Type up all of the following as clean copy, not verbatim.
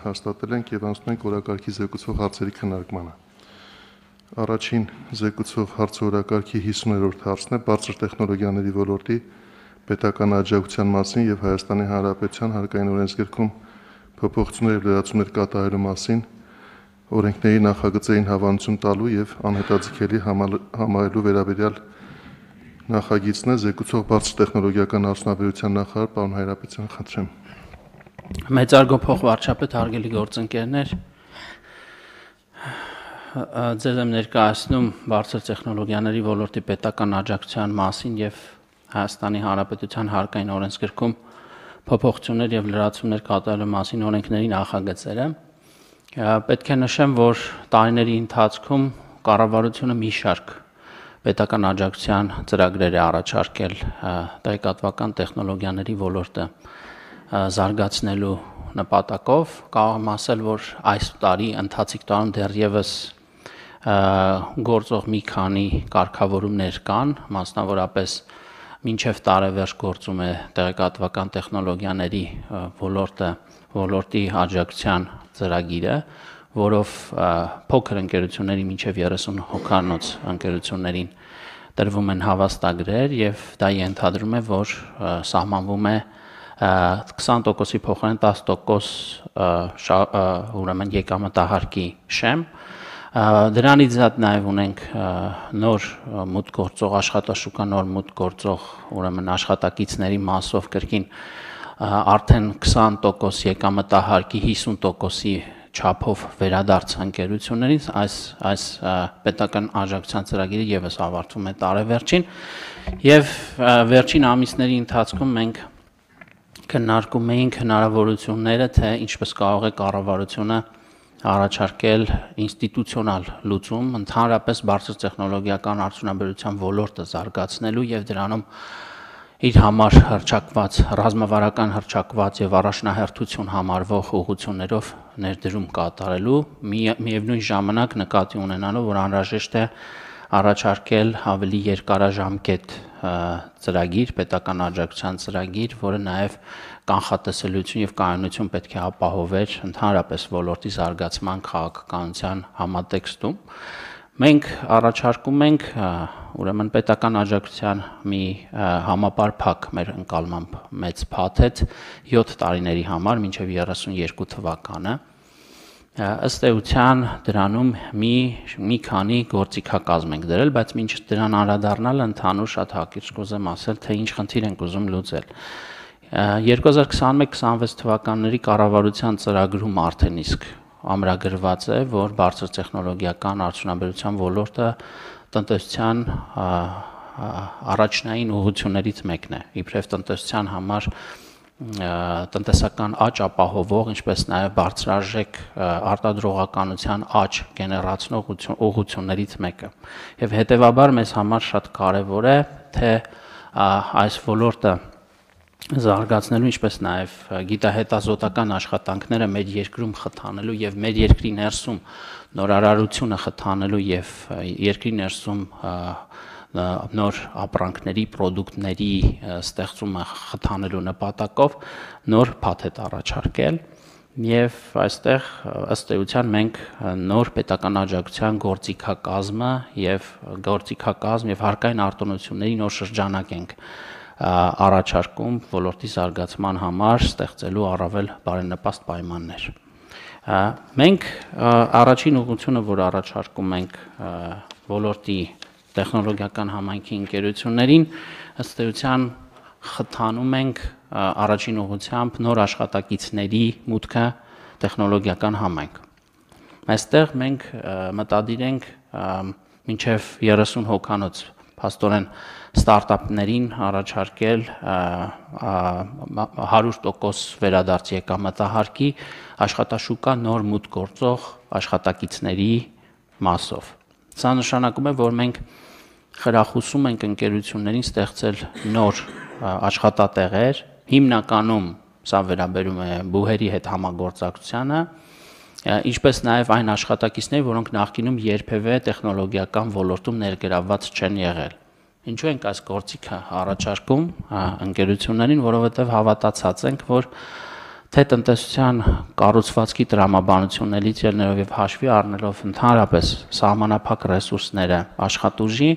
հաստատել ենք եւ անցնում ենք օրակարգի զեկուցող հարցերի քննարկմանը։ Առաջին զեկուցող հարցօրակարգի 50-րդ հարցն է բարձր տեխնոլոգիաների ոլորտի պետական աջակցության մասին եւ Հայաստանի Հանրապետության հարկային օրենսգրքում փոփոխություններ եւ լրացումներ կատարելու մասին օրենքների նախագծերին հավանություն տալու եւ անհետաձգելի համարելու վերաբերյալ նախագիծն է զեկուցող բարձր տեխնոլոգիական արդյունաբերության նախարար պարոն Հայրապետյան, խնդրեմ։ Մեծարգո փոխվարչապետ, հարգելի գործընկերներ, ձեզ եմ ներկայացնում բարձր տեխնոլոգիաների ոլորտի պետական աջակցության մասին եւ Հայաստանի Հանրապետության հարկային օրենսգրքում փոփոխություններ եւ լրացումներ կատարելու մասին օրենքների նախագծերը։ Պետք է նշեմ, որ տարիների ընթացքում կառավարությունը մի շարք պետական աջակցության ծրագրեր է առաջարկել տեղեկատվական տեխնոլոգիաների ոլորտը զարգացնելու նպատակով, կարող եմ ասել, որ այս տարի ընթացիկ տարում դեռևս գործող մի քանի կարգավորումներ կան, մասնավորապես մինչև տարեվերջ գործում է տեղեկատվական տեխնոլոգիաների ոլորտի աջակցության ծրագիրը, որով փոքր ընկերությունների մինչև 30 հոգանոց ընկերություններին տրվում են հավաստագրեր եւ դա ենթադրում է, որ սահմանվում է 20%-ի փոխարեն 10% ուրեմն եկամտահարկի շեմ։ Դրանից զատ նաև ունենք նոր մուտք գործող աշխատաշուկա, նոր մուտք գործող ուրեմն աշխատակիցների մասով կրկին արդեն 20% եկամտահարկի 50%-ի չափով վերադարձ ընկերություններից այս պետական աջակցության ծրագիրը եւս ավարտվում է տարեվերջին եւ վերջին ամիսների ընթացքում մենք քննարկում էինք հնարավորությունները, թե ինչպես կարող է կառավարությունը առաջարկել ինստիտուցիոնալ լուծում ընդհանրապես բարձր տեխնոլոգիական արդյունաբերության ոլորտը զարգացնելու եւ դրանում իր համար հռչակված ռազմավարական հռչակված եւ առաջնահերթություն համարվող ուղղություններով ներդրում կատարելու միևնույն ժամանակ նկատի ունենալով, որ անհրաժեշտ է առաջարկել ավելի երկարաժամկետ ծրագիր, պետական աջակցության ծրագիր, որը նաև կանխատեսելիություն եւ կայունություն պետք է ապահովեր ընդհանրապես ոլորտի զարգացման քաղաքականության համատեքստում։ Մենք առաջարկում ենք ուրեմն պետական աջակցության մի համապարփակ մեր ընկալմամբ մեծ փաթեթ 7 տարիների համար մինչև 32 թվականը։ Ըստ էության դրանում մի քանի գործիքակազմ ենք դրել, բայց մինչ դրան անդրադառնալ ընդհանուր շատ հակիրճ կուզեմ ասել, թե ինչ խնդիր ենք ուզում լուծել։ 2021-26 թվականների կառավարության ծրագրում արդեն իսկ ամրագրված է, որ բարձր տեխնոլոգիական արդյունաբերության ոլորտը տնտեսության առաջնային ուղղություններից մեկն է, իբրև տնտեսության համար տնտեսական աճ ապահովող, ինչպես նաև բարձրարժեք արտադրողականության աճ գեներացնող ուղղություններից մեկը։ Եվ հետևաբար մեզ համար շատ կարևոր է, թե այս ոլորտը զարգացնելու, ինչպես նաև գիտահետազոտական աշխատանքները մեր երկրում խթանելու եւ մեր երկրի ներսում նորարարությունը խթանելու եւ երկրի ներսում նոր ապրանքների, պրոդուկտների ստեղծումը խթանելու նպատակով նոր փաթեթ առաջարկել եւ այստեղ ըստ էության մենք նոր պետական աջակցության գործիքակազմը եւ հարկային արտոնությունների նոր շրջանակ ենք առաջարկում ոլորտի զարգացման համար ստեղծելու առավել բարենպաստ պայմաններ։ Մենք առաջին ուղղությունը, որ առաջարկում ենք ոլորտի տեխնոլոգիական համայնքի ընկերություններին, ըստ էության խթանում ենք առաջին ուղղությամբ նոր աշխատակիցների մուտքը տեխնոլոգիական համայնք։ Այստեղ մենք մտադիր ենք մինչև 30 հոգանոց փաստորեն ստարտափներին առաջարկել 100% վերադարձ եկամտահարկի աշխատաշուկա նոր մուտք գործող աշխատակիցների մասով։ Սա նշանակում է, որ մենք խրախուսում ենք ընկերություններին ստեղծել նոր աշխատատեղեր, հիմնականում սա վերաբերում է բուհերի հետ համագործակցությանը, ինչպես նաև այն աշխատակիցներ, որոնք նախկինում երբևէ տեխնոլոգիական ոլորտում ներգրավված չեն եղել։ Ինչու ենք այս գործիքը առաջարկում ընկերություններին, որովհետև հավատացած ենք, որ թե տնտեսության կառուցվածքի տրամաբանություններից ելնելով եւ հաշվի առնելով ընդհանրապես սահմանափակ ռեսուրսները աշխատուժի,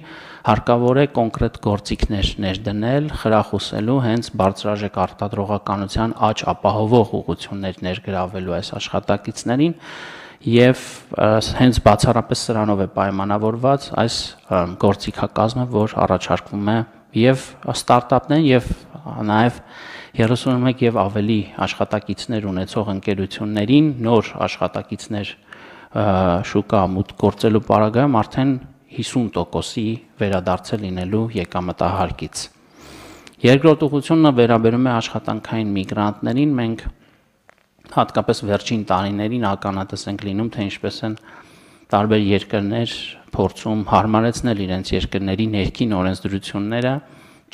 հարկավոր է կոնկրետ գործիքներ ներդնել, խրախուսելու հենց բարձրաժեք արտադրողականության աճ ապահովող ուղղություններ ներգրավելու այս աշխատակիցներին եւ հենց բացառապես սրանով է պայմանավորված այս գործիքակազմը, որ առաջարկվում է եւ ստարտափներն եւ նաեւ 31 եւ ավելի աշխատակիցներ ունեցող ընկերություններին նոր աշխատակիցներ շուկա մուտք գործելու պարագայում արդեն 50%-ի վերադարձել լինելու եկամտահարկից։ Երկրորդ ուղղությունը վերաբերում է աշխատանքային միգրանտներին, մենք հատկապես վերջին տարիներին ականատես ենք լինում, թե ինչպես են տարբեր երկրներ փորձում հարմարեցնել իրենց երկրների ներքին օրենսդրությունները,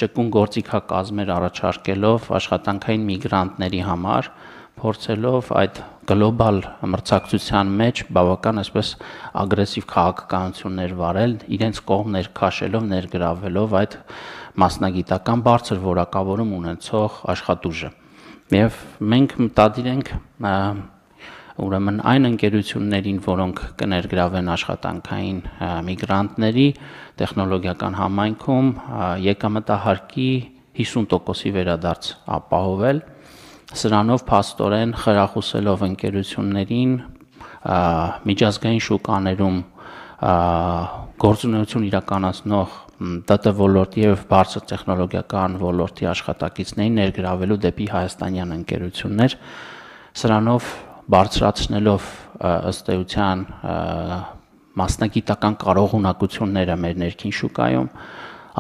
ճկուն գործիքակազմեր առաջարկելով աշխատանքային միգրանտների համար, փորձելով այդ գլոբալ մրցակցության մեջ բավական այսպես ագրեսիվ քաղաքականություններ վարել, իրենց կողմ ներքաշելով, ներգրավելով այդ մասնագիտական բարձր որակավորում ունեցող աշխատուժը։ Եվ մենք մտադիր ենք ուրեմն այն ընկերություններին, որոնք կներգրավեն աշխատանքային միգրանտների տեխնոլոգիական համայնքում եկամտահարկի 50%-ի վերադարձ ապահովել, սրանով փաստորեն խրախուսելով ընկերություններին միջազգային շուկաներում գործունեություն իրականացնող ՏՏ ոլորտի եւ բարձր տեխնոլոգիական ոլորտի աշխատակիցներին ներգրավելու դեպի հայաստանյան ընկերություններ, սրանով բարձրացնելով ըստ էության մասնագիտական կարողունակությունները մեր ներքին շուկայում,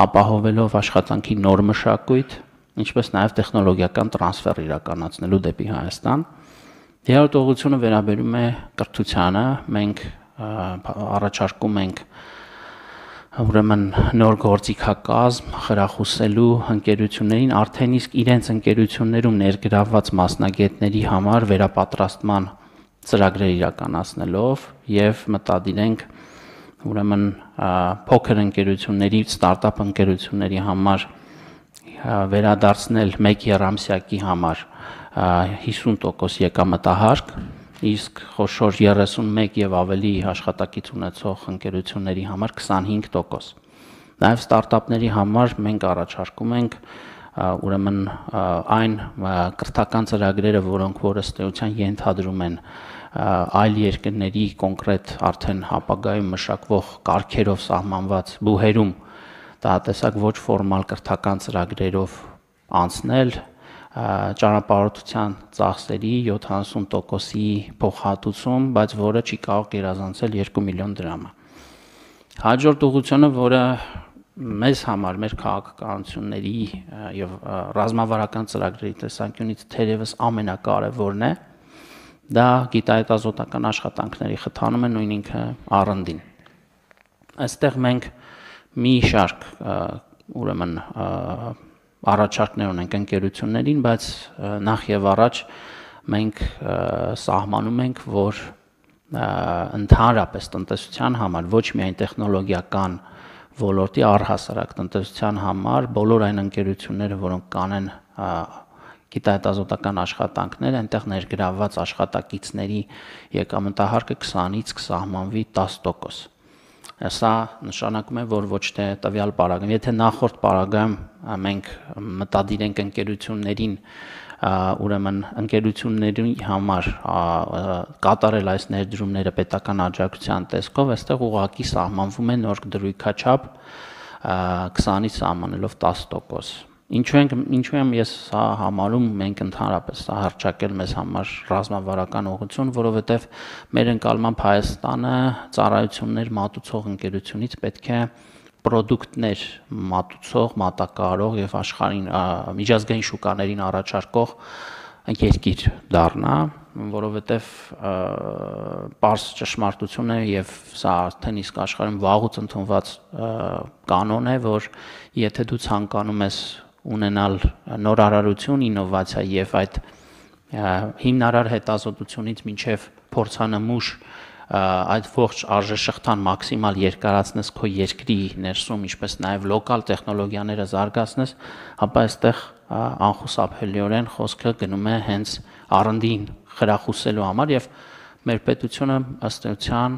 ապահովելով աշխատանքի նոր մշակույթ, ինչպես նաև տեխնոլոգիական տրանսֆեր իրականացնելու դեպի Հայաստան։ Երրորդ ուղղությունը վերաբերում է կրթությանը, մենք առաջարկում ենք ուրեմն նոր գործիքակազմ խրախուսելու ընկերություններին արդեն իսկ իրենց ընկերություններում ներգրավված մասնագետների համար վերապատրաստման ծրագրեր իրականացնելով եւ մտադիր ենք ուրեմն փոքր ընկերությունների, ստարտափ ընկերությունների համար վերադարձնել 1 եռամսյակի համար 50% եկամտահարկ, իսկ խոշոր 31 եւ ավելի աշխատակից ունեցող ընկերությունների համար 25%։ Նաև ստարտափների համար մենք առաջարկում ենք ուրեմն այն կրթական ծրագրերը, որոնք որ ըստ էության ենթադրում են այլ երկրների կոնկրետ արդեն ապագայում մշակվող կարգերով սահմանված բուհերում տահատեսակ ոչ ֆորմալ կրթական ծրագրերով անցնել ճանապարհորդության ծախսերի 70%-ի փոխհատուցում, բայց որը չի կարող գերազանցել 2 միլիոն դրամը։ Հաջորդ ուղղությունը, որը մեզ համար մեր քաղաքականությունների եւ ռազմավարական ծրագրերի տեսանկյունից թերևս ամենակարևորն է, դա գիտահետազոտական աշխատանքների խթանում է նույն ինքը R&D-ն։ Այստեղ մենք մի շարք ուրեմն առաջարկներ ունենք ընկերություններին, բայց նախ եւ առաջ մենք սահմանում ենք, որ ընդհանրապես տնտեսության համար, ոչ միայն տեխնոլոգիական ոլորտի առհասարակ տնտեսության համար, բոլոր այն ընկերությունները, որոնք կանեն գիտահետազոտական աշխատանքներ, այնտեղ ներգրավված աշխատակիցների եկամտահարկը 20-ից կսահմանվի 10%։ Սա նշանակում է, որ ոչ թե տվյալ պարագայում, եթե նախորդ պարագայում մենք մտադիր ենք ընկերություններին ուրեմն ընկերությունների համար կատարել այս ներդրումները պետական աջակցության տեսքով, այստեղ ուղղակի սահմանվում է նոր դրույքաչափ 20-ից սահմանելով 10%։ Ինչու եմ ես սա համարում, մենք ընդհանրապես սա հռչակել մեզ համար ռազմավարական ուղղություն, որովհետև մեր ընկալմամբ Հայաստանը ծառայություններ մատուցող ընկերությունից պետք է պրոդուկտներ մատուցող, մատակարարող եւ աշխարհին միջազգային շուկաներին առաջարկող երկիր դառնա, որովհետև պարզ ճշմարտություն է եւ սա արդեն իսկ աշխարհում վաղուց ընդունված կանոն է, որ եթե դու ցանկանում ես ունենալ նորարարություն, ինովացիա եւ այդ հիմնարար հետազոտությունից մինչեւ փորձանմուշ այդ ողջ արժեշղթան մաքսիմալ երկարացնես քո երկրի ներսում, ինչպես նաև լոկալ տեխնոլոգիաները զարգացնես, ապա այստեղ անխուսափելիորեն խոսքը գնում է հենց R&D-ին խրախուսելու համար եւ մեր պետությունը ըստ էության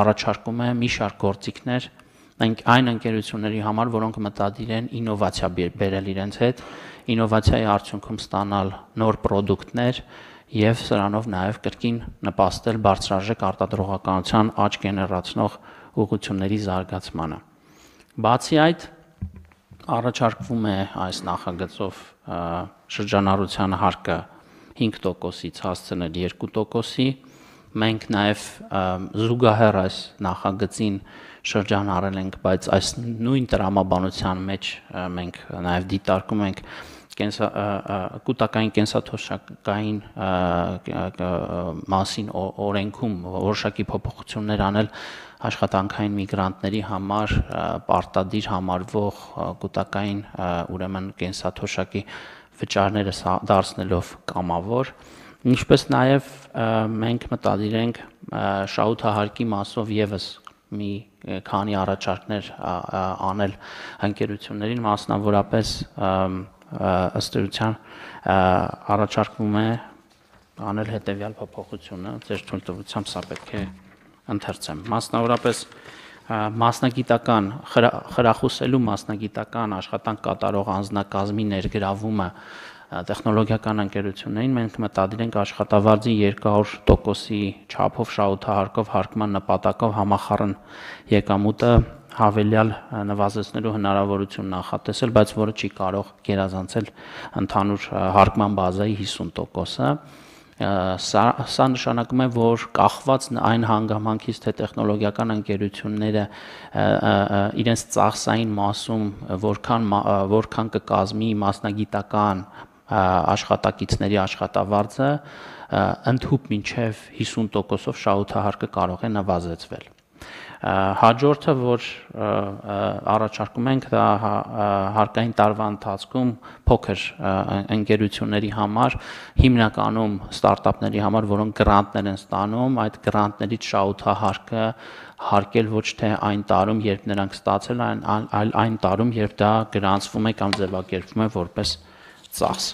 առաջարկում է մի շարք գործիքներ այն ընկերությունների համար, որոնք մտադիր են ինովացիա բերել իրենց հետ, ինովացիայի արդյունքում ստանալ նոր պրոդուկտներ եւ սրանով նաև կրկին նպաստել բարձրարժեք արտադրողականության աճ գեներացնող ուղղությունների զարգացմանը։ Բացի այդ, առաջարկվում է այս նախագծով շրջանառության հարկը 5%-ից հասցնել 2%-ի։ Մենք նաև զուգահեռ այս նախագծին շրջանառել ենք, բայց այս նույն տրամաբանության մեջ մենք նաև դիտարկում ենք կൂട്ടակային կենսաթոշակային մասին օրենքում որոշակի փոփոխություններ անել աշխատանքային միգրանտների համար պարտադիր համարվող կൂട്ടակային ուրեմն կենսաթոշակի վճարները դարձնելով կամավոր, ինչպես նաև մենք մտադիր ենք շահութահարկի մասով եւս մի քանի առաջարկներ անել ընկերություններին, մասնավորապես ըստ էության առաջարկվում է անել հետևյալ փոփոխությունը, ձեր թույլտվությամբ սա պետք է ընթերցեմ։ Մասնավորապես մասնագիտական խրախուսելու մասնագիտական աշխատանք կատարող անձնակազմի ներգրավումը տեխնոլոգիական ընկերություններին մենք մտադիր ենք աշխատավարձի 200%-ի չափով շահութահարկով հարկման նպատակով համախառն եկամուտը հավելյալ նվազեցնելու հնարավորություն նախատեսել, բայց որը չի կարող գերազանցել ընդհանուր հարկման բազայի 50%-ը։ Սա նշանակում է, որ կախված այն հանգամանքից, թե տեխնոլոգիական ընկերությունները իրենց ծախսային մասում որքան կկազմի մասնագիտական աշխատակիցների աշխատավարձը, ընդհուպ մինչև 50%-ով շահութահարկը կարող է նվազեցվել։ Հաջորդը, որ առաջարկում ենք, դա հարկային տարվա ընթացքում փոքր ընկերությունների համար, հիմնականում ստարտափների համար, որոնք գրանտներ են ստանում, այդ գրանտներից շահութահարկը հարկել ոչ թե այն տարում, երբ նրանք ստացել են, այլ այն տարում, երբ դա գրանցվում է կամ ձևակերպվում է որպես ծախս։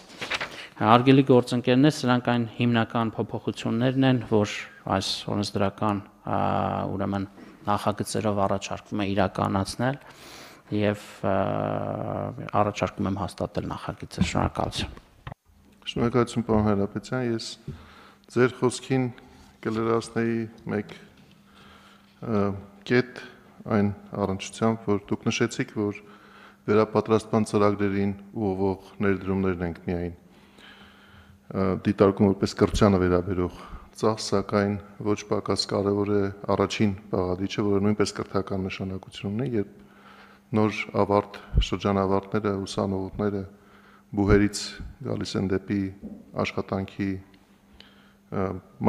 Հարգելի գործընկերներ, սրանք այն հիմնական փոփոխություններն են, որ այս օրենսդրական ուրեմն նախագծերով առաջարկվում է իրականացնել եւ առաջարկում եմ հաստատել նախագիծը։ Շնորհակալություն։ Շնորհակալություն, պարոն Հայրապետյան, ես ձեր խոսքին կլրացնեի մեկ կետ այն առնչությամբ, որ դուք նշեցիք, որ վերապատրաստման ծրագրերին ուղղող ներդրումներն ենք միայն դիտարկում որպես կրթությանը վերաբերող ծախս, սակայն ոչ պակաս կարևոր է առաջին բաղադրիչը, որը նույնպես կրթական նշանակություն ունի, երբ նոր շրջանավարտները, ուսանողները բուհերից գալիս են դեպի աշխատանքի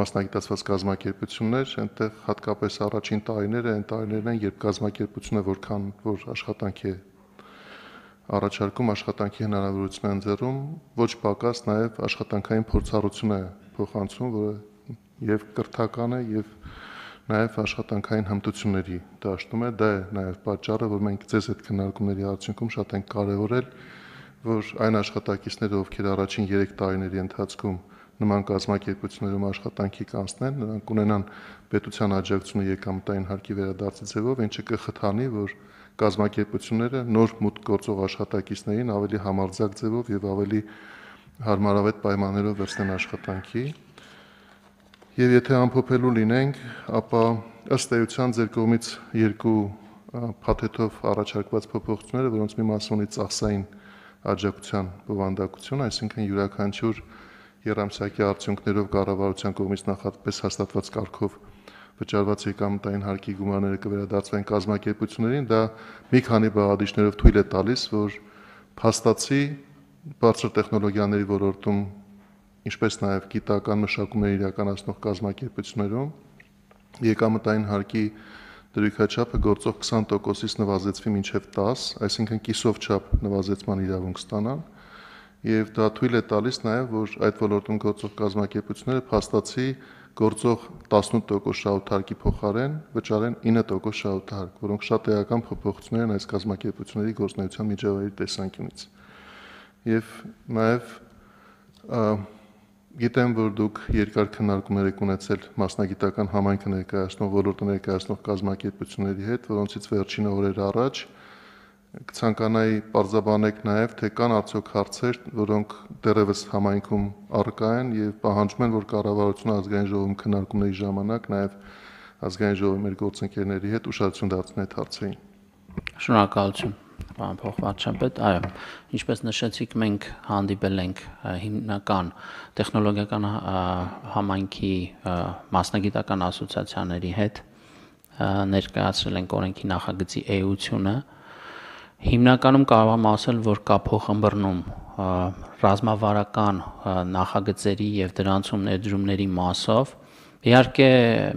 մասնագիտացված կազմակերպություններ, այնտեղ հատկապես առաջին տարիները այն տարիներն են, երբ կազմակերպությունը որքան որ աշխատանք է առաջարկում, աշխատանքի հնարավորություն են ձեռում, ոչ պակաս նաև աշխատանքային փորձառություն է փոխանցում, որը եւ կրթական է եւ նաև աշխատանքային հմտությունների դաշտում է, դա է նաև պատճառը, որ մենք ձեզ այդ քննարկումների արդյունքում շատ ենք կարևորել, որ այն աշխատակիցները, ովքեր առաջին 3 տարիների ընթացքում նման կազմակերպություններում աշխատանքի կանցնեն, նրանք ունենան պետության աջակցությունը եկամտային հարկի վերադարձի ձևով, ինչը կխթանի, որ կազմակերպությունները նոր մուտք գործող աշխատակիցներին ավելի համարձակ ձևով եւ ավելի հարմարավետ պայմաններով վերցնեն աշխատանքի։ Եվ եթե ամփոփելու լինենք, ապա ըստ էության ձեր կողմից երկու փաթեթով առաջարկված փոփոխությունները, որոնց մի մասը ունի ծախսային աջակցության բովանդակություն, այսինքն յուրաքանչյուր երամսյակի արդյունքներով կառավարության կողմից նախապես հաստատված կարգով վճարված եկամտային հարկի գումարները կվերադարձվեն կազմակերպություններին, դա մի քանի բաղադրիչներով թույլ է տալիս, որ փաստացի բարձր տեխնոլոգիաների ոլորտում, ինչպես նաև գիտական մշակումներ իրականացնող կազմակերպություններում եկամտային հարկի դրույքաչափը գործող 20%-ից նվազեցվի մինչև 10, այսինքն կիսով չափ նվազեցման իրավունք ստանան, եւ դա թույլ է տալիս նաև, որ այդ ոլորտում գործող կազմակերպությունները փաստացի գործող 18% շահութարկի փոխարեն վճարեն 9% շահութարկ, որոնք շատ էական փոփոխություններ են այս կազմակերպությունների գործունեության միջավայրի տեսանկյունից։ Եվ նաև գիտեմ, որ դուք երկար քննարկումներ եք ունեցել մասնագիտական համայնքը ներկայացնող, ոլորտը ներկայացնող կազմակերպությունների հետ, որոնցից վերջին օրեր առաջ կցանկանայի պարզաբանեք նաև, թե կան արդյոք հարցեր, որոնք դեռևս համայնքում առկա են եւ պահանջում են, որ կառավարությունը ազգային ժողովում քննարկումների ժամանակ նաև ազգային ժողովի մեր գործընկերների հետ ուշադրություն դարձնի այդ հարցերին։ Շնորհակալություն, պարոն փոխվարչապետ։ Այո, ինչպես նշեցիք, մենք հանդիպել ենք հիմնական տեխնոլոգիական համայնքի մասնագիտական ասոցիացիաների հետ, ներկայացրել ենք օրենքի նախագծի էությունը։ Հիմնականում կարող եմ ասել, որ կա փոխըմբռնում ռազմավարական նախագծերի եւ դրանցում ներդրումների մասով։ Իհարկե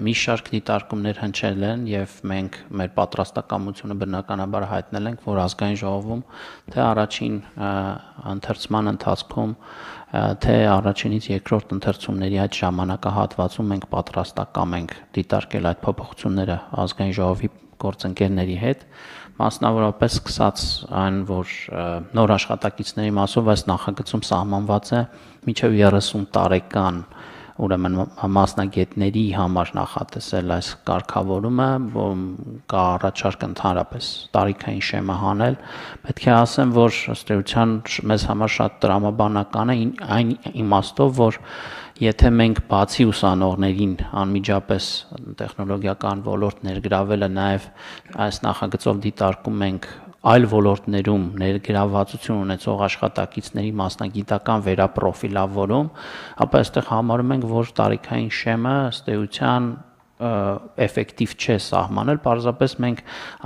մի շարք դիտարկումներ հնչել են եւ մենք մեր պատրաստակամությունը բնականաբար հայտնել ենք, որ ազգային ժողովում թե առաջին ընթերցման ընթացքում, թե առաջինից երկրորդ ընթերցումների այդ ժամանակահատվածում մենք պատրաստակամ ենք դիտարկել այդ փոփոխությունները ազգային ժողովի գործընկերների հետ, մասնավորապես սկսած այն, որ նոր աշխատակիցների մասով այս նախագծում սահմանված է մինչև 30 տարեկան ուրեմն մասնագետների համար նախատեսել այս կարգավորումը, կա առաջարկ ընդհանրապես տարիքային շեմը հանել, պետք է ասեմ, որ ըստ էության մեզ համար շատ տրամաբանական է այն իմաստով, որ եթե մենք բացի ուսանողներին անմիջապես տեխնոլոգիական ոլորտ ներգրավելը նաև այս նախագծով դիտարկում ենք այլ ոլորտներում ներգրավվածություն ունեցող աշխատակիցների մասնագիտական վերապրոֆիլավորում, ապա այստեղ համարում ենք, որ տարիքային շեմը ըստ էության էֆեկտիվ չէ սահմանել, պարզապես մենք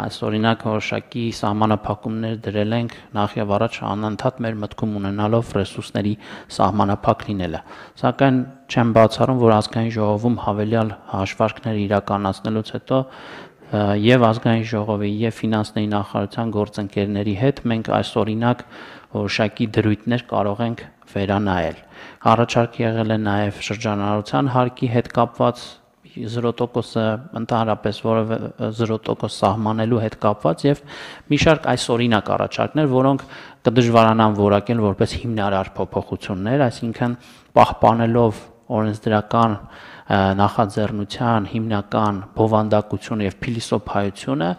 այս օրինակ որոշակի սահմանափակումներ դրել ենք նախ եւ առաջ անընդհատ մեր մտքում ունենալով ռեսուրսների սահմանափակ լինելը, սակայն չեմ բացառում, որ ազգային ժողովում հավելյալ հաշվարկներ իրականացնելուց հետո եւ ազգային ժողովի եւ ֆինանսների նախարարության գործընկերների հետ մենք այս օրինակ որոշակի դրույթներ կարող ենք վերանայել։ Առաջարկ եղել է նաեւ շրջանառության հարկի հետ կապված 0%-ը ընդհանրապես որևէ 0% սահմանելու հետ կապված եւ մի շարք այս օրինակ առաջարկներ, որոնք կդժվարանան որակել որպես հիմնարար փոփոխություններ, այսինքն պահպանելով օրենսդրական նախաձեռնության հիմնական բովանդակությունը եւ փիլիսոփայությունը,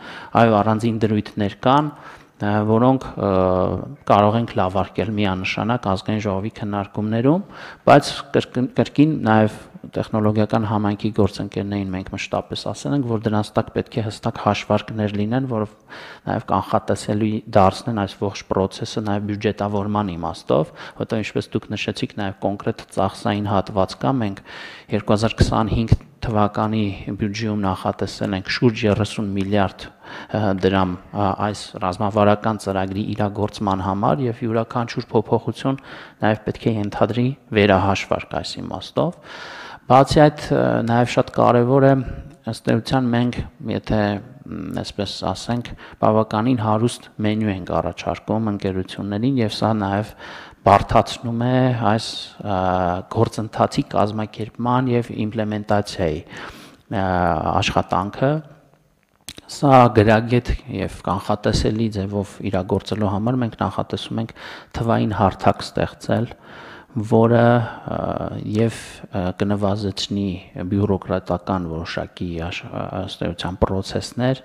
այո, առանձին դրույթներ կան, որոնք կարող ենք լավարկել միանշանակ ազգային ժողովի քննարկումներում, բայց կրկին նաև տեխնոլոգիական համայնքի գործընկերներին մենք մշտապես ասել ենք, որ դրանց տակ պետք է հստակ հաշվարկներ լինեն, որով նաև կանխատեսելի դարձնեն այս ողջ process-ը նաև բյուջետավորման իմաստով, որտեղ ինչպես դուք նշեցիք, նաև կոնկրետ ծախսային հատված կա, մենք 2025 թվականի բյուջեում նախատեսել ենք շուրջ 30 միլիարդ դրամ այս ռազմավարական ծրագրի իրագործման համար եւ յուրաքանչյուր փոփոխություն նաեւ պետք է ենթադրի վերահաշվարկ այս իմաստով։ Բացի այդ նաեւ շատ կարեւոր է ըստ էության մենք եթե այսպես ասենք բավականին հարուստ մենյու ենք առաջարկում ընկերություններին եւ սա նաեւ բարդացնում է այս գործընթացի կազմակերպման եւ իմպլեմենտացիայի աշխատանքը։ Սա գրագետ եւ կանխատեսելի ձևով իրագործելու համար մենք նախատեսում ենք թվային հարթակ ստեղծել, որը եւ կնվազեցնի բյուրոկրատական որոշակի ըստ էության process-ներ,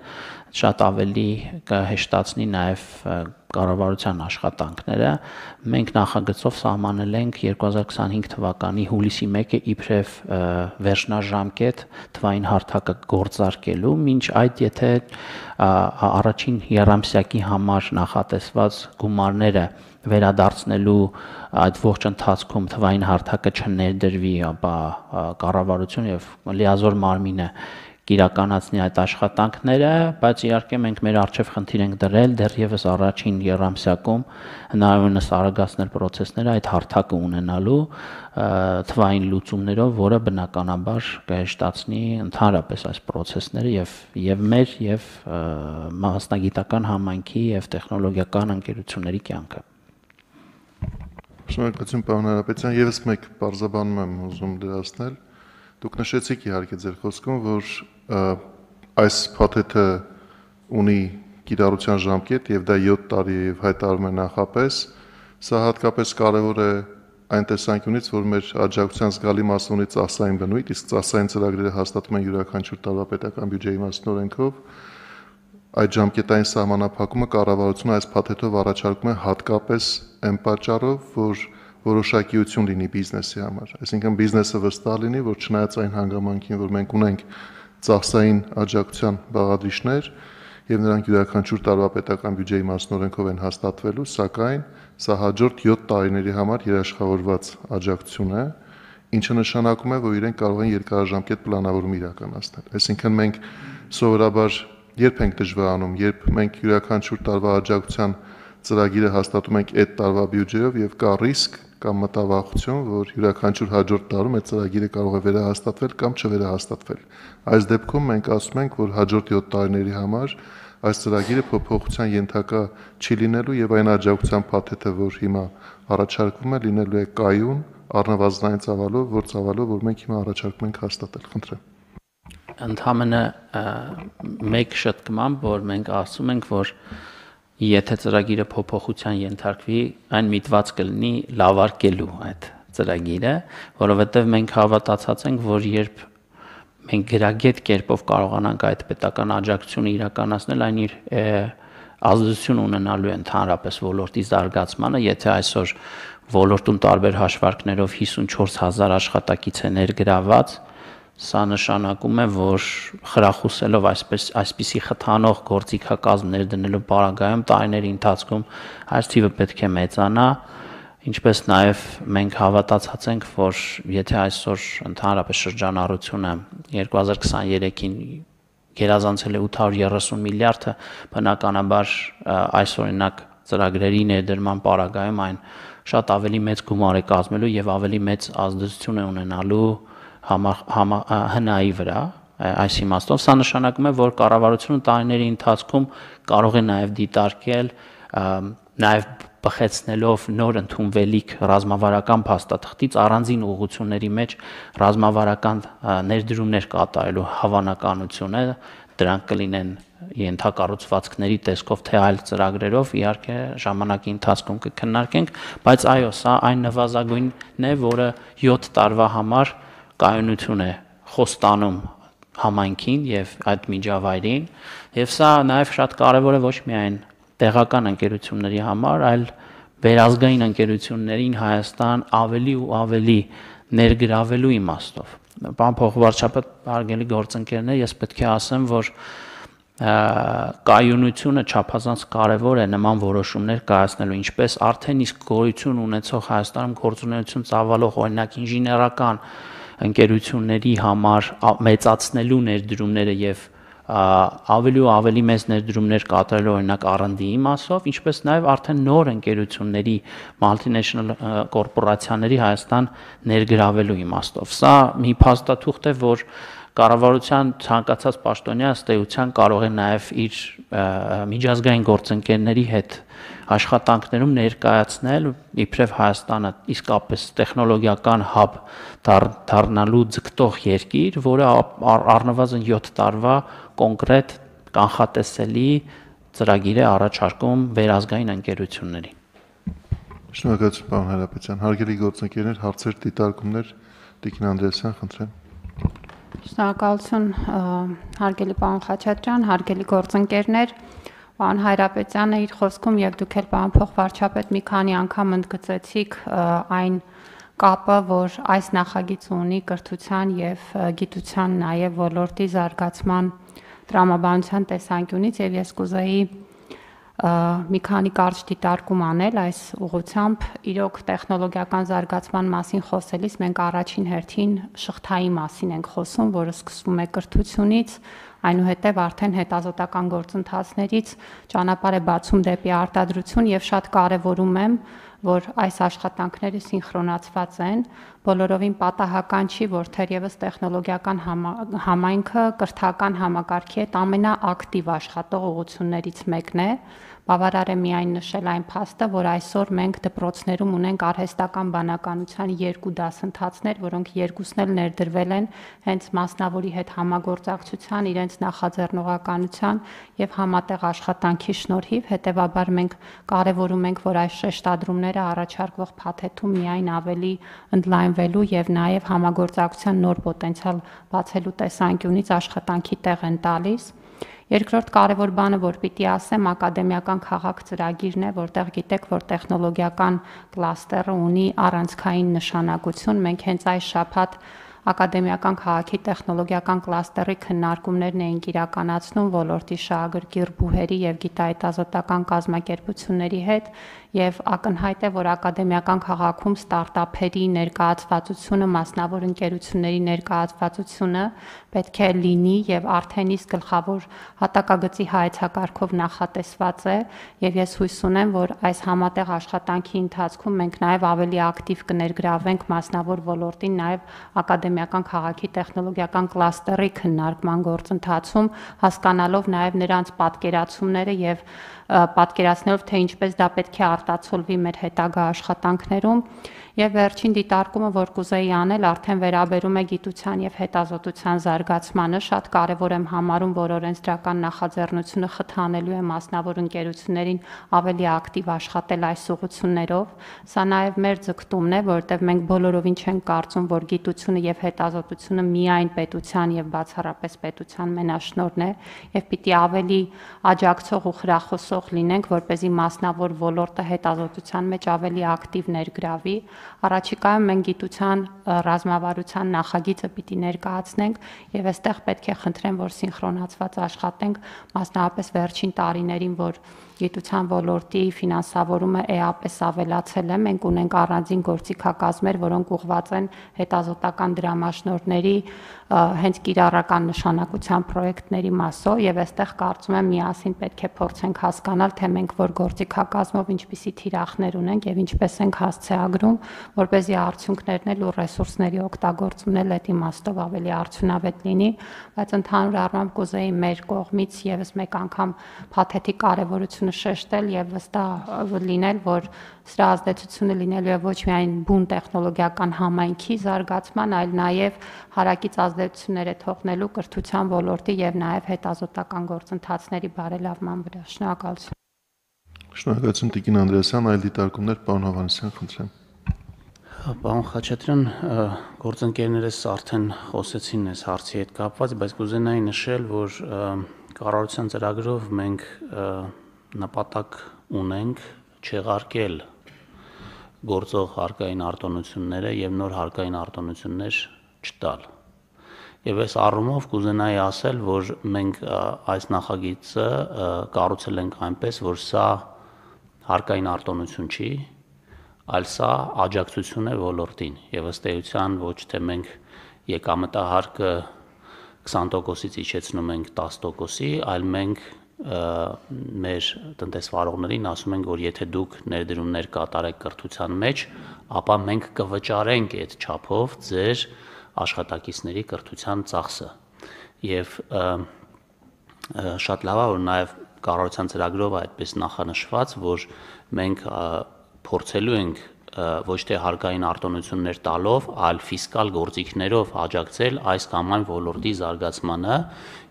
շատ ավելի կհեշտացնի նաեւ կառավարության աշխատանքները։ Մենք նախագծով սահմանել ենք 2025 թվականի հուլիսի 1-ը իբրև վերջնաժամկետ թվային հարթակը գործարկելու, մինչ այդ եթե առաջին եռամսյակի համար նախատեսված գումարները վերադարձնելու այդ ողջ ընթացքում թվային հարթակը չներդրվի, ապա կառավարություն եւ լիազոր մարմինը կիրականացնի այդ աշխատանքները, բայց իհարկե մենք մեր արժեվ խնդիր ենք դրել դեռևս առաջին եռամսյակում հնարավորինս արագացնել process-ները այդ հարթակը ունենալու թվային լուծումներով, որը բնականաբար կհեշտացնի ընդհանրապես այս process-ները եւ մեր եւ մասնագիտական համայնքի եւ տեխնոլոգիական ընկերությունների կյանքը։ Շնորհակալություն, պարոն Հարապետյան, եւս մեկ բարձաբանում եմ ուզում դրացնել, Դուք նշեցիք իհարկե ձեր խոսքում, որ այս փաթեթը ունի կիրառության ժամկետ եւ դա 7 տարի է եւ հայտարարում է նախապես, սա հատկապես կարեւոր է այն տեսանկյունից, որ մեր աջակցության զգալի մասը ունի ծախսային բնույթ, իսկ ծախսային ծրագրերը հաստատում են յուրաքանչյուր տարվա պետական բյուջեի մասնորենքով, այդ ժամկետային սահմանափակումը կառավարությունը այս փաթեթով առաջարկում է հատկապես այն պատճառով, որ որոշակիություն լինի բիզնեսի համար, այսինքն բիզնեսը վստահ լինի, որ չնայած այն հանգամանքին, որ մենք ունենք ծախսային աջակցության բաղադրիչներ եւ նրանք յուրաքանչյուր տարվա պետական բյուջեի մասնորենքով են հաստատվելու, սակայն սա հաջորդ 7 տարիների համար երաշխավորված աջակցություն է, ինչը նշանակում է, որ իրենք կարող են երկարաժամկետ պլանավորում իրականացնել։ Այսինքն մենք սովորաբար երբ ենք դժվարանում, երբ մենք յուրաքանչյուր տարվա աջակցության ծրագիրը հաստատում ենք այդ տարվա բյուջեով եւ կա ռիսկ կամ մտավախություն, որ յուրաքանչյուր հաջորդ տարում այդ ծրագիրը կարող է վերահաստատվել կամ չվերահաստատվել։ Այս դեպքում մենք ասում ենք, որ հաջորդ 7 տարիների համար այս ծրագիրը փոփոխության ենթակա չի լինելու եւ այն աջակցության փաթեթը, որ հիմա առաջարկվում է, լինելու է կայուն, առնվազնային ծավալով, որ մենք հիմա առաջարկում ենք հաստատել։ Խնդրեմ։ Ընդհանրապես մեկ շտկմամբ, որ մենք ասում ենք, որ եթե ծրագիրը փոփոխության ենթարկվի, այն միտված կլինի լավարկելու այդ ծրագիրը, որովհետև մենք հավատացած ենք, որ երբ մենք գրագետ կերպով կարողանանք այդ պետական աջակցությունը իրականացնել, այն իր ազդեցություն ունենալու է ընդհանրապես ոլորտի զարգացմանը, եթե այսօր ոլորտում տարբեր հաշվարկներով 54,000 աշխատակից է ներգրաված, սա նշանակում է, որ խրախուսելով այսպիսի խթանող գործիքակազմ ներդնելու պարագայում տարիների ընթացքում այս թիվը պետք է մեծանա, ինչպես նաև մենք հավատացած ենք, որ եթե այսօր ընդհանրապես շրջանառությունը 2023-ին գերազանցել է 830 միլիարդը, բնականաբար այս օրինակ ծրագրերի ներդրման պարագայում այն շատ ավելի մեծ գումար է կազմելու եւ ավելի մեծ ազդեցություն է ունենալու հնայի վրա, այս իմաստով սա նշանակում է, որ կառավարությունը տարիների ընթացքում կարող է նաև դիտարկել, նաև բխեցնելով նոր ընդունվելիք ռազմավարական փաստաթղթից առանձին ուղղությունների մեջ ռազմավարական ներդրումներ կատարելու հավանականությունը, դրանք կլինեն ենթակառուցվածքների տեսքով թե այլ ծրագրերով, իհարկե ժամանակի ընթացքում կքննարկենք, բայց այո, սա այն նվազագույնն է, որը 7 տարվա համար կայունություն է խոստանում համայնքին եւ այդ միջավայրին եւ սա նաեւ շատ կարեւոր է ոչ միայն տեղական ընկերությունների համար, այլ վերազգային ընկերություններին Հայաստան ավելի ու ավելի ներգրավելու իմաստով։ Պարոն փոխվարչապետ, հարգելի գործընկերներ, ես պետք է ասեմ, որ կայունությունը չափազանց կարևոր է նման որոշումներ կայացնելու, ինչպես արդեն իսկ գոյություն ունեցող Հայաստանում գործունեություն ծավալող օրինակ ինժեներական ընկերությունների համար մեծացնելու ներդրումները եւ ավելի ու ավելի մեծ ներդրումներ կատարելու օրինակ R&D-ի մասով, ինչպես նաեւ արդեն նոր ընկերությունների multinational կորպորացիաների Հայաստան ներգրավելու իմաստով։ Սա մի փաստաթուղթ է, որ կառավարության ցանկացած պաշտոնյա ըստ էության կարող է նաեւ իր միջազգային գործընկերների հետ աշխատանքներում ներկայացնել իբրև Հայաստանը իսկապես տեխնոլոգիական հաբ դառնալու ձգտող երկիր, որը առնվազն 7 տարվա կոնկրետ կանխատեսելի ծրագիր է առաջարկում վերազգային ընկերություններին։ Շնորհակալություն, պարոն Հայրապետյան։ Հարգելի գործընկերներ, հարցեր, դիտարկումներ, Տիկին Անդրեասյան, խնդրեմ։ Շնորհակալություն, հարգելի պարոն Խաչատրյան, հարգելի գործընկերներ, պարոն Հայրապետյանը իր խոսքում եւ դուք էլ պարոն փոխվարչապետ մի քանի անգամ ընդգծեցիք այն կապը, որ այս նախագիծը ունի կրթության եւ գիտության նաեւ ոլորտի զարգացման տրամաբանության տեսանկյունից եւ ես կուզեի մի քանի կարճ դիտարկում անել այս ուղղությամբ։ Իրոք տեխնոլոգիական զարգացման մասին խոսելիս մենք առաջին հերթին շղթայի մասին ենք խոսում, որը սկսվում է կրթությունից, այնուհետև արդեն հետազոտական գործընթացներից ճանապարհ է բացում դեպի արտադրություն եւ շատ կարեւորում եմ, որ այս աշխատանքները սինխրոնացված են, բոլորովին պատահական չի, որ թերևս տեխնոլոգիական համայնքը կրթական համակարգի հետ ամենաակտիվ աշխատող ուղղություններից մեկն է։ Բավարար է միայն նշել այն փաստը, որ այսօր մենք դպրոցներում ունենք արհեստական բանականության 2 դասընթացներ, որոնք երկուսն էլ ներդրվել են հենց մասնավորի հետ համագործակցության, իրենց նախաձեռնողականության եւ համատեղ աշխատանքի շնորհիվ, հետեւաբար մենք կարևորում ենք, որ այս շեշտադրումները առաջարկվող փաթեթում միայն ավելի ընդլայնվելու եւ նաեւ համագործակցության նոր պոտենցիալ բացելու տեսանկյունից աշխատանքի տեղ են տալիս։ Երկրորդ կարևոր բանը, որ պիտի ասեմ, ակադեմիական քաղաք ծրագիրն է, որտեղ գիտեք, որ տեխնոլոգիական կլաստերը ունի առանցքային նշանակություն։ Մենք հենց այս շաբաթ ակադեմիական քաղաքի տեխնոլոգիական կլաստերի քննարկումներն էինք իրականացնում ոլորտի շահագրգիռ բուհերի եւ գիտահետազոտական կազմակերպությունների հետ եւ ակնհայտ է, որ ակադեմիական քաղաքում ստարտափերի ներկայացվածությունը, մասնավոր ընկերությունների ներկայացվածությունը պետք է լինի եւ արդեն իսկ գլխավոր հատակագծի հայեցակարգով նախատեսված է եւ ես հույս ունեմ, որ այս համատեղ աշխատանքի ընթացքում մենք նաեւ ավելի ակտիվ կներգրավենք մասնավոր ոլորտին նաեւ ակադեմիական քաղաքի տեխնոլոգիական կլաստերի քննարկման գործընթացում, հասկանալով նաեւ նրանց պատկերացումները եւ պատկերացնելով, թե ինչպես դա պետք է արտացոլվի մեր հետագա աշխատանքներում եւ վերջին դիտարկումը, որ կուզեի անել, արդեն վերաբերում է գիտության եւ հետազոտության զարգացմանը, շատ կարեւոր եմ համարում, որ օրենսդրական նախաձեռնությունը խթանելու է մասնավոր ընկերություններին ավելի ակտիվ աշխատել այս ուղղություններով։ Սա նաեւ մեր ձգտումն է, որովհետեւ մենք բոլորովին չենք կարծում, որ գիտությունը եւ հետազոտությունը միայն պետության եւ բացառապես պետության մենաշնորհն է եւ պիտի ավելի աջակցող ու խրախուսող լինենք, որպեսզի մասնավոր ոլորտը հետազոտության մեջ ավելի ակտիվ ներգրավի։ Առաջիկայում մենք գիտության ռազմավարության նախագիծը պիտի ներկայացնենք եւ այստեղ պետք է խնդրեմ, որ սինխրոնացված աշխատենք, մասնավորապես վերջին տարիներին, որ գիտության ոլորտի ֆինանսավորումը էապես ավելացել է, մենք ունենք առանձին գործիքակազմեր, որոնք ուղղված են հետազոտական դրամաշնորհների հենց կիրառական նշանակության պրոյեկտների մասով եւ այստեղ կարծում եմ միասին պետք է փորձենք հասկանալ, թե մենք որ գործիքակազմով ինչպիսի թիրախներ ունենք եւ ինչպես ենք հասցեագրում, որպեսզի արդյունքներն էլ ու ռեսուրսների օգտագործումն էլ այդ իմաստով ավելի արդյունավետ լինի, բայց ընդհանուր առմամբ կուզեի մեր կողմից եւս մեկ անգամ փաթեթի կարեւորությունը շեշտել եւ վստահ լինել, որ սրա ազդեցությունը լինելու է ոչ միայն բուն տեխնոլոգիական համայնքի զարգացման, այլ նաեւ հարակից ազդեցություններ է թողնելու կրթության ոլորտի եւ նաեւ հետազոտական գործընթացների բարելավման վրա։ Շնորհակալություն։ Շնորհակալություն Տիկին Անդրեասյան, այլ դիտարկումներ պարոն Հովհաննիսյան, խնդրեմ։ Պարոն Խաչատրյան, գործընկերներս արդեն խոսեցին այս հարցի հետ կապված, բայց կուզենայի նշել, որ կառավարության ծրագրով մենք նպատակ ունենք չեղարկել գործող հարկային արտոնությունները եւ նոր հարկային արտոնություններ չտալ։ Եվ այս առումով կուզենայի ասել, որ մենք այս նախագիծը կառուցել ենք այնպես, որ սա հարկային արտոնություն չի, այլ սա աջակցություն է ոլորտին եւ ըստ էության ոչ թե մենք եկամտահարկը 20%-ից իջեցնում ենք 10%-ի, այլ մենք մեր տնտեսվարողներին ասում ենք, որ եթե դուք ներդրումներ կատարեք կրթության մեջ, ապա մենք կվճարենք այդ չափով ձեր աշխատակիցների կրթության ծախսը։ Եվ շատ լավ է, որ նաև կառավարության ծրագրով այդպես նախանշված, որ մենք փորձելու ենք ոչ թե հարկային արտոնություններ տալով, այլ ֆիսկալ գործիքներով աջակցել այս կամ այն ոլորտի զարգացմանը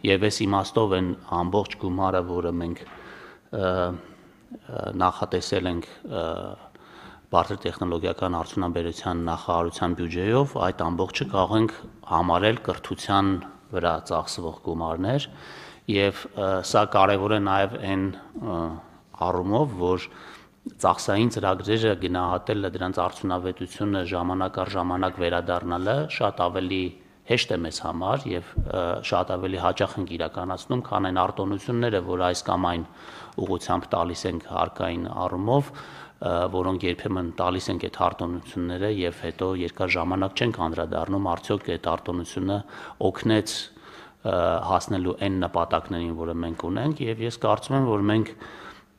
եւ այս իմաստով են ամբողջ գումարը, որը մենք նախատեսել ենք բարձր տեխնոլոգիական արդյունաբերության նախարարության բյուջեով, այդ ամբողջը կարող ենք համարել կրթության վրա ծախսվող գումարներ եւ սա կարեւոր է նաեւ այն առումով, որ ծախսային ծրագրերը գնահատելը, դրանց արդյունավետությունը ժամանակ առ ժամանակ վերադառնալը շատ ավելի հեշտ է մեզ համար եւ շատ ավելի հաճախ ենք իրականացնում, քան այն արտոնությունները, որ այս կամ այն ուղղությամբ տալիս ենք հարկային առումով, որոնք երբեմն տալիս ենք այդ արտոնությունները եւ հետո երկար ժամանակ չենք անդրադառնում, արդյոք այդ արտոնությունը օգնեց հասնելու այն նպատակներին, որը մենք ունենք, եւ ես կարծում եմ, որ մենք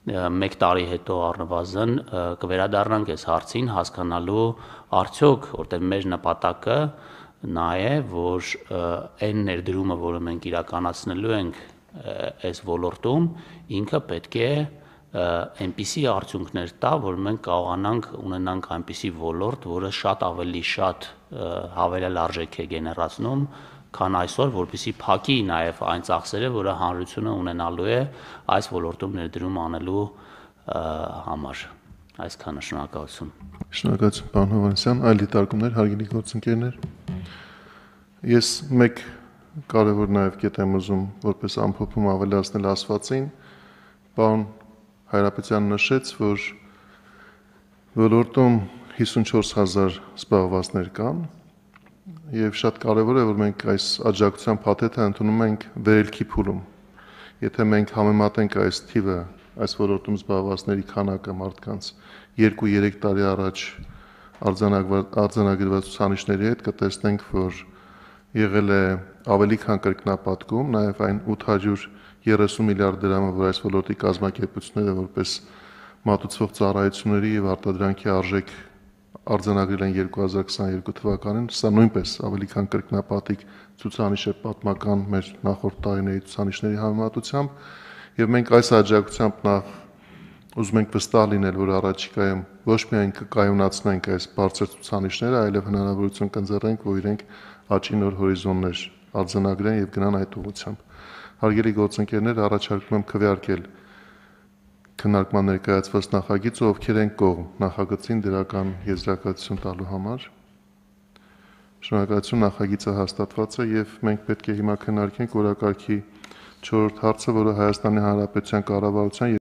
1 տարի հետո առնվազն կվերադառնանք այս հարցին հասկանալու արդյոք որտեղ մեր նպատակը նա է որ այն ներդրումը որը մենք իրականացնելու ենք այս ոլորտում ինքը պետք է այնպիսի արդյունքներ տա որ մենք կարողանանք ունենանք այնպիսի ոլորտ որը շատ ավելի շատ հավելյալ արժեք է գեներացնում քան այսօր, որպեսզի փակի նաև այն ծախսերը, որը հանրությունը ունենալու է այս ոլորտում ներդրում անելու համար։ Այսքանը շնորհակալություն։ Շնորհակալություն, պարոն Հովհաննիսյան, այլ դիտարկումներ, հարգելի գործընկերներ։ Ես մեկ կարևոր նաև կետ եմ ուզում որպես ամփոփում ավելացնել ասվածին, պարոն Հայրապետյանը նշեց, որ ոլորտում 54,000 զբաղվածներ կան եւ շատ կարեւոր է որ մենք այս աջակցության փաթեթը ընդունում ենք վերելքի փուլում։ Եթե մենք համեմատենք այս թիվը, այս ոլորտում զբաղվածների քանակը մարդկանց 2-3 տարի առաջ արձանագրված ցուցանիշների հետ կտեսնենք, որ եղել է ավելի քան կրկնապատկում, նաեւ այն 830 միլիարդ դրամը, որ այս ոլորտի կազմակերպությունները որպես մատուցվող ծառայությունների եւ արտադրանքի արժեք արձանագրել են 2022 թվականին, սա նույնպես ավելի քան կրկնապատիկ ցուցանիշ է պատմական մեր նախորդ տարիների ցուցանիշների համեմատությամբ եւ մենք այս աջակցությամբ նախ ուզում ենք վստահ լինել, որ առաջիկայում ոչ միայն կկայունացնենք այս բարձր ցուցանիշները, այլև հնարավորություն կընձեռենք, որ իրենք աճի նոր հորիզոններ արձանագրեն եւ գնան այդ ուղղությամբ։ Հարգելի գործընկերներ, առաջարկում եմ քվեարկել քննարկման ներկայացված նախագիծը, ովքեր են կողմ նախագծին դրական եզրակացություն տալու համար։ Շնորհակալություն, նախագիծը հաստատված է եւ մենք պետք է հիմա քննարկենք օրակարգի 4-րդ հարցը, որը Հայաստանի Հանրապետության կառավարության